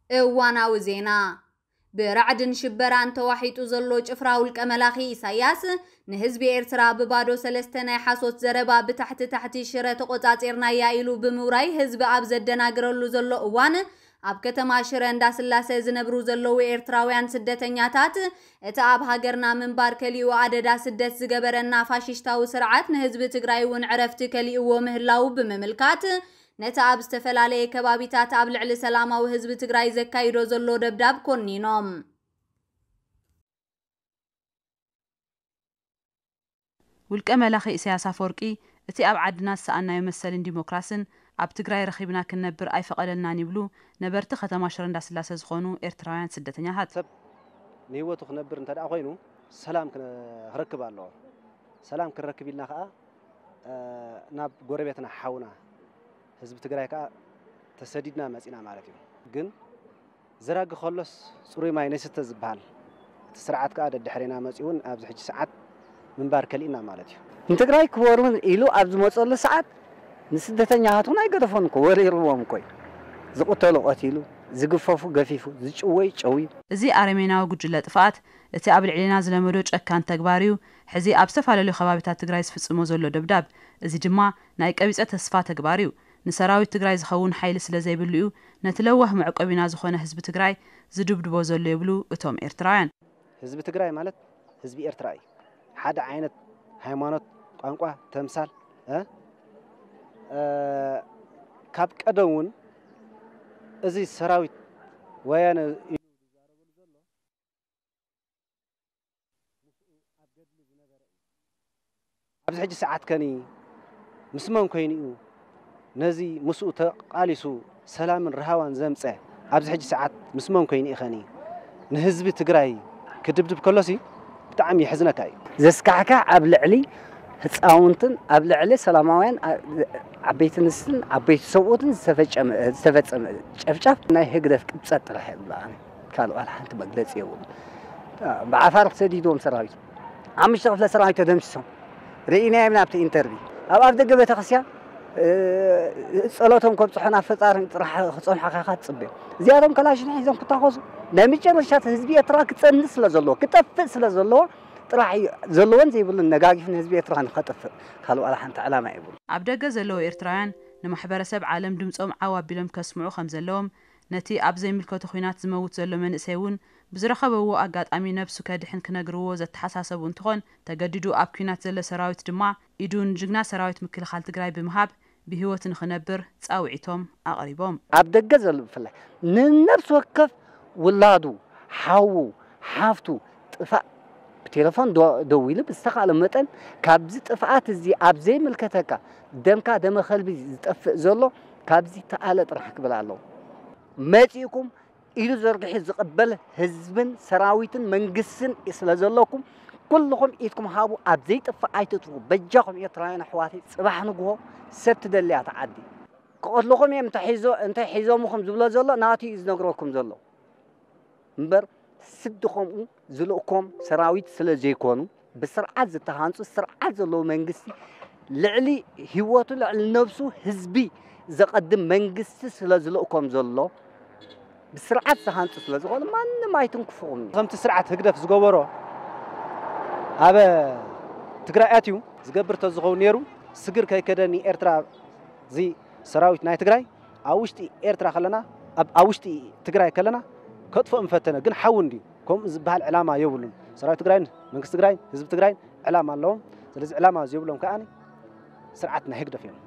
እዋናዊ ዜና። ብራዕድን ሽበራን ተዋሒጡ ዘሎ ጭፍራ ውልቀ መላኺ ኢሳያስ፣ ንህዝቢ ኤርትራ ብባዶ ሰለስተ ናይ ሓሶት ዘረባ ብታሕቲ ታሕቲ ሽረ ተቖጻጺርናያ ኢሉ ብምውራይ ህዝቢ ኣብ ዘደናግረሉ ዘሎ እዋን፣ ኣብ ከተማ ሽረ እንዳስላሰ ዝነብሩ ዘለዉ ኤርትራውያን ስደተኛታት፣ እቲ ኣብ ሃገርና ምንባር ከሊኡ ኣደዳ ስደት ዝገበረና ፋሽሽታዊ ስርዓት ንህዝቢ ትግራይ እውን ዕረፍቲ ከሊእዎ ምህላዉ ብምምልካት፣ ነቲ ኣብ ዝተፈላለየ ከባቢታት ኣብ ልዕሊ ሰላማዊ ህዝቢ ትግራይ ዘካይዶ ዘሎ ደብዳብ ኮኒኖም። ውልቀ መላኺ ኢሳያስ ኣፈወርቂ፣ እቲ ኣብ ዓድና ዝሰኣናዮ መሰልን ዲሞክራስን ኣብ ትግራይ ረኺብና ክንነብር ኣይፈቐደልናን ይብሉ ነበርቲ ከተማ ሽረ እንዳስላሰ ዝኾኑ ኤርትራውያን ስደተኛታት። ሰብ ንህይወቱ ክነብር እንተ ደኣ ኮይኑ ሰላም ክነ-፣ ክረክብ ኣለዎ። ሰላም ክንረክብ ኢልና ከኣ፣ እ፣ ናብ ጎረቤትና ሓውና ህዝቢ ትግራይ ከኣ ተሰዲድና መጺና ማለት እዩ። ግን ዘራጊ ከሎስ ጽሩይ ማይ ነይስተ ዝበሃል እቲ ስርዓት ከኣ ደድሕሬና መጺኡን ኣብዚ ሕጂ ሰዓት ምንባር ከሊእና ማለት እዩ። ንትግራይ ክወሩን ኢሉ ኣብ ዝመጸሉ ሰዓት ንስደተኛታት እውን ኣይገደፎን እኮ፣ ወሪርዎም እኮ እዩ። ዝቕተሉ ቀቲሉ፣ ዝግፈፉ ገፊፉ፣ ዝጭወይ ጨውዩ። እዚ ኣረሜናዊ ጉጅለ ጥፍኣት፣ እቲ ኣብ ልዕሌና ዝለመዶ ጨካን ተግባር እዩ፣ ሕዚ ኣብ ዝተፈላለዩ ከባቢታት ትግራይ ዝፍጽሞ ዘሎ ደብዳብ። እዚ ድማ ናይ ቀቢጸ ተስፋ ተግባር እዩ። ንሰራዊት ትግራይ ዝኸውን ሓይሊ ስለ ዘይብሉ እዩ፣ ነቲ ለዋህ መዕቆቢና ዝኾነ ህዝቢ ትግራይ ዝድብድቦ ዘሎ ይብሉ እቶም ኤርትራውያን። ህዝቢ ትግራይ ማለት ህዝቢ ኤርትራ እዩ። ሓደ ዓይነት ሃይማኖት፣ ቋንቋ፣ ተምሳል፣ እ፣ እ፣ ካብ ቀደም እውን እዚ ሰራዊት ወያነ እዩ ዝዛረበሉ ዘሎ። ምስኡ ኣብ ገድሊ ዝነበረ እዩ። ኣብዚ ሕጂ ሰዓት ከኒ ምስ መን ኮይኑ እዩ ነዚ ምስኡ ተቓሊሱ ሰላምን ርሃዋን ዘምጸ? ኣብዚ ሕጂ ሰዓት ምስ መን ኮይኑ እዩ ከኒ ንህዝቢ ትግራይ ክድብድብ ከሎሲ ብጣዕሚ የሕዝነካ እዩ። ዘስካሕክሕ ኣብ ልዕሊ ህፃውንትን ኣብ ልዕሊ ሰላማውያን፣ ዓ-፣ ዓበይቲ ኣንስትን ዓበይቲ ሰብኡትን ዝተፈጨመ-፣ ዝተፈጸመ ጨፍጫፍ ናይ ህግደፍ ቅብጸት ጥራሕ እየ ዝብሎ ኣነ። ካልእ ዋላ ሓንቲ መግለጺ የብሉን። ብዓፋር ተሰዲድዎም ሰራዊት፣ ሓሙሽተ ክፍለ ሰራዊት ተደምሲሶም ርኢናዮም ኢና ኣብቲ ኢንተርቪ። ኣብ ኣፍ ደገ ቤተክርስትያን፣ እ፣ ጸሎቶም ከብጽሑ ናብ ፈጣሪ ጥራሕ ክጸንሑ ኢኻ ትጽበዮም። እዚኣቶም ከላሽን ሒዞም ክታኾሱ፣ ናይ መጨረሻ ህዝቢ ኤርትራ ክጸንት ስለ ዘለዎ፣ ክጠፍእ ስለ ዘለዎ ጥራሕ እዩ ዘለዎን ዘይብሉን ነጋጊፍ ንህዝቢ ኤርትራ ንኸጥፍእ ካልእ ዋላ ሓንቲ ዕላማ የብሉን። ኣብ ደገ ዘለዉ ኤርትራውያን ንማሕበረሰብ ዓለም ድምጾም ዓው ኣቢሎም ከስምዑ ከም ዘለዎም፣ ነቲ ኣብ ዘይምልከቶ ኲናት ዝመውት ዘሎ መንእሰይ እውን ብዝረኸበዎ ኣጋጣሚ ነብሱ ከድሕን ክነግርዎ ዘተሓሳሰቡ እንትኾን፣ ተገዲዱ ኣብ ኲናት ዘሎ ሰራዊት ድማ ኢዱ ንጅግና ሰራዊት ምክልኻል ትግራይ ብምሃብ ብህይወት ንኽነብር ጻውዒቶም ኣቕሪቦም። ኣብ ደገ ዘሎ ብፍላይ ንነብሲ ወከፍ ውላዱ፣ ሓዉ፣ ሓፍቱ ጥፋእ ብቴሌፎን ዶ-፣ ደዊሉ ብዝተኻእለ መጠን ካብዚ ጥፍኣት እዚ ኣብ ዘይምልከተካ ደምካ ደመ ከልቢ ዝጠፍእ ዘሎ ካብዚ ተኣለ ጥራሕ ክብል ኣለዎ። መጺእኩም ኢዱ ዘርጊሑ ዝቕበል ህዝብን ሰራዊትን መንግስትን ስለ ዘለኩም፣ ኩልኹም ኢድኩም ሃቡ፣ ኣብ ዘይጥፍእ ኣይትጥፉ። በጃኹም ኤርትራውያን ኣሕዋተይ፣ ጽባሕ ንግሆ ሰብ ትደልያ እታ ዓዲ። ክቐትልኹም እዮም እንተ ሒዞ-፣ እንተ ሒዞምኹም ዝብሎ ዘሎ ናቱ እዩ ዝነግረኩም ዘሎ። እምበር ስዲ ከምኡ ዝልእኮም ሰራዊት ስለ ዘይኮኑ፣ ብስርዓት ዝተሃንጹ፣ ስርዓት ዘለዎ መንግስቲ፣ ልዕሊ ህይወቱ፣ ልዕሊ ነብሱ ህዝቢ ዘቐድም መንግስቲ ስለ ዝልእኮም ዘሎ፣ ብስርዓት ዝሃንጹ ስለ ዝኾኑ ማንም ኣይትንክፍኹም እዩ። ከምቲ ስርዓት ህግደፍ ዝገበሮ ኣብ ትግራይ ኣትዩ ዝገብር ተዝኸውን ነይሩ፣ ስግር ከይከደኒ ኤርትራ፣ እዚ ሰራዊት ናይ ትግራይ ኣብ ውሽጢ ኤርትራ ከለና፣ ኣብ፣ ኣብ ውሽጢ ትግራይ ከለና ከጥፍኦም ፈተነ፣ ግን ሓዊ እንድዩ። ከምኡ ዝበሃል ዕላማ የብሉን። ሰራዊት ትግራይን መንግስቲ ትግራይን ህዝቢ ትግራይን ዕላማ ኣለዎም። ስለዚ ዕላማ ዘይብሎም ከኣ ስርዓት ናይ ህግደፍ እዮም።